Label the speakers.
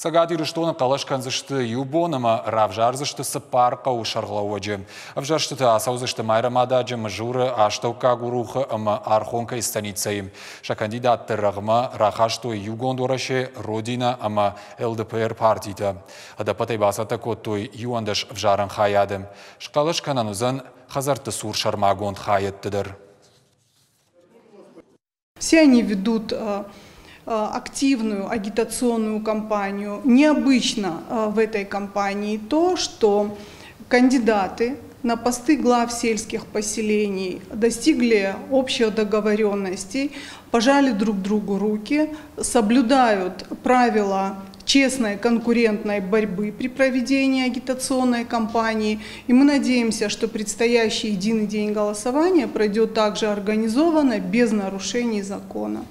Speaker 1: Цӕгат Ирыстоны хъӕлӕс кӕндзысты иу бон ӕмӕ равзардзысты цыппар хъӕуы сӕргълӕууӕджы. Ӕвзӕрстытӕ ацӕудзысты Майрӕмададжы, Мызуры, Астӕуккаг Урухы ӕмӕ Архонкӕйы станицӕйы. Сӕ кандидатты рӕгъмӕ рахастой Иугонд Уӕрӕсе, Родина ӕмӕ ЛДПР партитӕ. Ӕдӕппӕтӕй бацӕттӕ кодтой 11 ӕвзарӕн хайады. Схъӕлӕс кӕнӕн уыдзӕн хӕдзӕртты цур сӕрмагонд хайӕдты дӕр.
Speaker 2: Все они ведут активную агитационную кампанию. Необычно в этой кампании то, что кандидаты на посты глав сельских поселений достигли общих договоренностей, пожали друг другу руки, соблюдают правила честной конкурентной борьбы при проведении агитационной кампании. И мы надеемся, что предстоящий единый день голосования пройдет также организованно, без нарушений закона.